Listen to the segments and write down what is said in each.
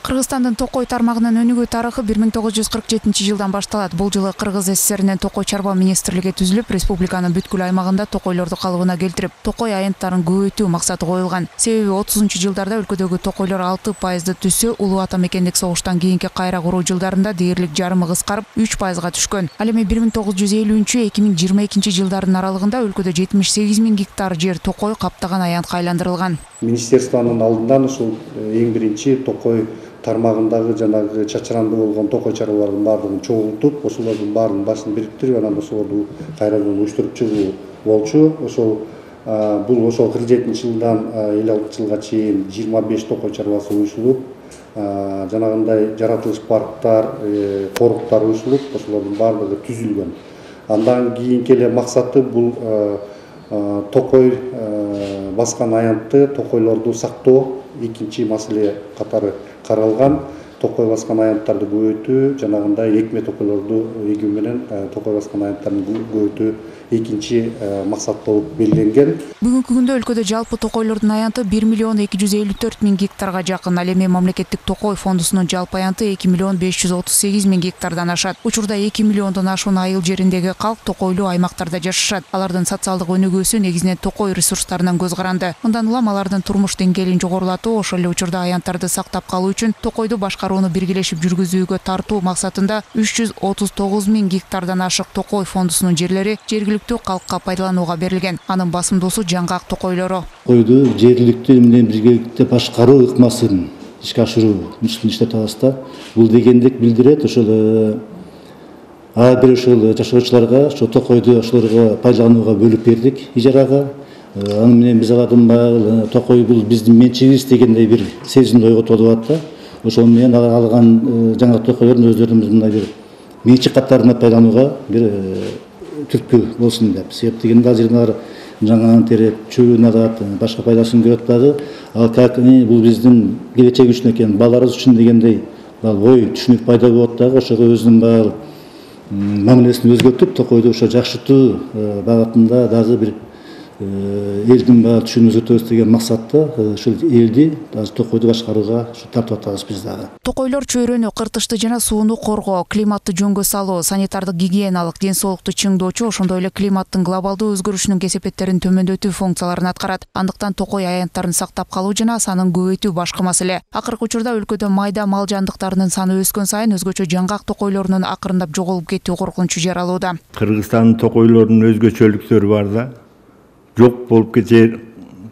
Кыргызстандын Токой тармагынын өнүгүү тарыхы 1947-жылдан башталат. Бул жылы Кыргыз СССРинин Токой чарба министрлиги түзүлүп, республиканын бүткүл аймагында токойлорду калыбына келтирип, токой аянттарын көбөйтүү максаты коюлган. Себеби 30-жылдарда өлкөдөгү токойлор 6% түссө, улуу ата мекендик согуштан кийинки кайра куруу жылдарында дээрлик жарымы кыскарып 3%га түшкөн. Ал эми 1950-2022 жылдардын аралыгында өлкөдө 78 000 гектар жер токой каптаган аянтка айландырылган. Министерствонун алдынан ушул эң биринчи токой тармагындагы жанагы чачыранды болгон токой чарбалардын баардыгын чогултуп, ошолордун баарын башын бириктирип, анан ошолорду кайрадан уюштуруп чыгуу болчу. Ошол 47-жылдан 56-жылга чейин 25 токой чарбасы уюшулуп, жанагындай жаратылыш парктар, коруктар уюшулуп, ошолордун баардыгы түзүлгөн. Андан кийинки эле максаты бул токой баскан аянтты, токойлорду сактоо экинчи маселе катары каралган. Токой баскан аянттарды көбөйтүү, жанагындай экме токойлорду эгүү менен токой баскан аянттарды көбөйтүү экинчи максат болуп белгиленген. Бүгүнкү күндө өлкөдө жалпы токойлордун аянты 1 254 000 гектарга жакын. Ал эми мамлекеттик токой фондусунун жалпы аянты 2 538 000 гектардан ашат. Учурда 2 миллиондон ашуун айыл жериндеги калк токойлуу аймактарда жашашат. Алардын социалдык өнүгүүсү негизинен токой ресурстарынан көз каранды. Мындан улам алардын турмуш деңгээлин жогорулатуу, ошол эле учурда аянттарды сактап калуу үчүн токойду башкарууну биргелешип жүргүзүүгө тартуу максатында 339 000 гектардан ашык токой фондусунун жерлери жергиликтүү калкка пайдаланууга берилген. Анын басымдуусу жаңгак токойлору. Токойду жергиликтүү менен биргеликте башкаруу ыкмасын ишке ашыруу иштеп атабыз да. Бул дегендик билдирет ошол ар бир ошол жашоочуларга ошо токойду ошолорго пайдаланууга бөлүп бердик ижарага. Аны менен биз алардын баягы токой бул биздин менчигибиз дегендей бир сезимди ойготуп атат да. Ошол менен алган жаңа токойлордун өздөрүнүн мындай бир менчик катарына пайдаланууга бир түрткү болсун деп. Себеп дегенде ал жерден алар жаңаан тереп, чөбүн алат, башка пайдасын көрөт дагы. Ал как бул биздин келечек үчүн экен, балдарыбыз үчүн дегендей ой түшүнүк пайда болот дагы. Ошого өзүнүн баягы мамилесин өзгөртүп, токойду ошо жакшыртуу багытында дагы бир элдин баары түшүнүгүн өзгөртөбүз деген максатта ушул элди токойду башкарууга тартып атабыз биз дагы. Токойлор чөйрөнү, кыртышты жана сууну коргоо, климатты жөнгө салуу, санитардык гигиеналык, ден соолукту чыңдоочу, ошондой эле климаттын глобалдуу өзгөрүшүнүн кесепеттерин төмөндөтүү функцияларын аткарат. Андыктан токой аянттарын сактап калуу жана санын көбөйтүү башкы маселе. Акыркы учурда өлкөдө майда мал жандыктарынын саны өскөн сайын өзгөчө жаңгак токойлорунун акырындап жоголуп кетүү коркунучу жаралууда. Кыргызстандын токойлорунун өзгөчөлүктөрү бар да. Жок болуп кете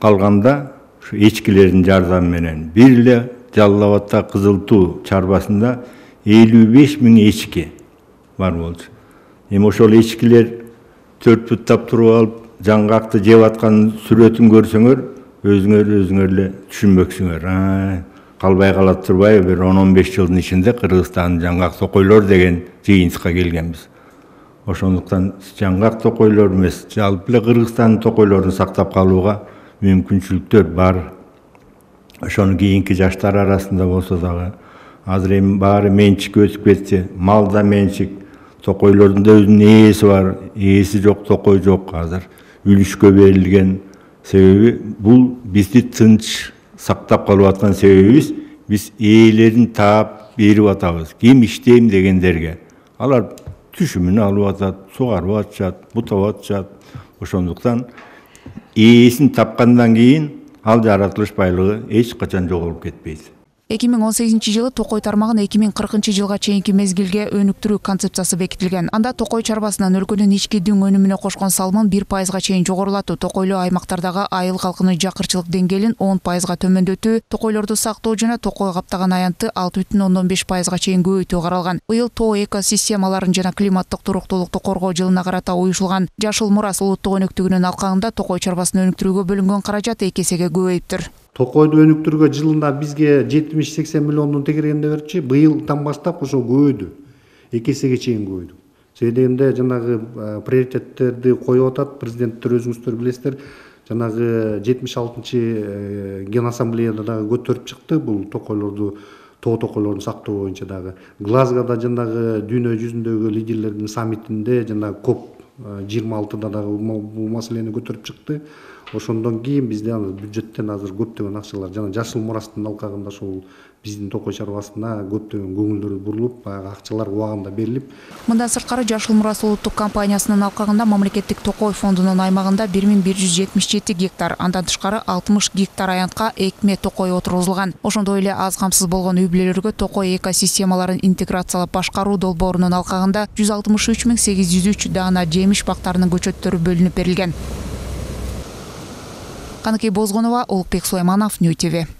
калганда ушу эчкилердин жардамы менен бир эле Жалал Абадта Кызыл Туу чарбасында 55 000 эчки бар болчу. Эми ошол эчкилер төрт буттап туруп алып, жаңгакты жеп аткан сүрөтүн көрсөңөр, өзүңөр эле түшүнбөксүңөр. Калбай калат турбайбы, бир 10-15 жылдын ичинде Кыргызстандын жаңгак токойлор деген жыйынтыкка келгенбиз. Ошондуктан жаңгак токойлор эмес, жалпы эле Кыргызстандын токойлорун сактап калууга мүмкүнчүлүктөр бар. Ошону кийинки жаштар арасында болсо дагы азыр эми баары менчикке өтүп кетти. Мал да менчик, токойлордун да өзүнүн ээси бар, ээси жок токой жок азыр. Үлүшкө берилген. Себеби бул бизди тынч сактап калып аткан себебибиз биз ээлерин таап берип атабыз. Ким иштейм дегендерге. Алар түшүмүн алып атат, сугарып атышат, бутап атышат. Ошондуктан ээсин тапкандан кийин ал жаратылыш байлыгы эч качан жоголуп кетпейт. 2018-жылы токой тармагын 2040-жылга чейинки мезгилге өнүктүрүү концепциясы бекитилген. Анда токой чарбасынан өлкөнүн ички дүң өнүмүнө кошкон салымын 1%га чейин жогорулатуу, токойлуу аймактардагы айыл калкынын жакырчылык деңгээлин 10%га төмөндөтүү, токойлорду сактоо жана токой каптаган аянтты 6,5%га чейин көбөйтүү каралган. Быйыл тоо экосистемаларын жана климаттык туруктуулукту коргоо жылына карата уюшулган Жашыл Мурас улуттук өнөктүгүнүн алкагында токой чарбасын өнүктүрүүгө бөлүнгөн каражат 2 эсеге көбөйүптүр. Токойду өнүктүрүүгө жылына бизге 70-80 миллиондун тегерегинде берчү. Быйылдан баштап ошо көбөйдү. 2 эсеге чейин көбөйдү. Себеби дегенде жанагы приоритеттерди коюп атат. Президенттер өзүңүздөр билесиздер. Жанагы 76-чы Ген ассамблеяда дагы көтөрүп чыкты. Бул токойлорду, тоо токойлорун сактоо боюнча дагы. Глазгода жанагы дүйнө жүзүндөгү лидерлердин саммитинде жанагы COP 26-да дагы бул маселени көтөрүп чыкты. Ошондон кийин бизде бюджеттен азыр көптөгөн акчалар жана жашыл мурастын алкагында ошол биздин токой чарбасына көптөгөн көңүлдөр бурулуп, баягы акчалар убагында берилип. Мындан сырткары Жашыл Мурас улуттук компаниясынын алкагында мамлекеттик токой фондунун аймагында 1177 гектар, андан тышкары 60 гектар аянтка экме токой отургузулган. Ошондой эле аз камсыз болгон үй бүлөлөргө токой экосистемаларын интеграциялап башкаруу долбоорунун алкагында 163.803 даана жемиш бактарынын көчөттөрү бөлүнүп берилген. Каныкей Бозгонова, Улукбек Сулайманов, Нью ТВ.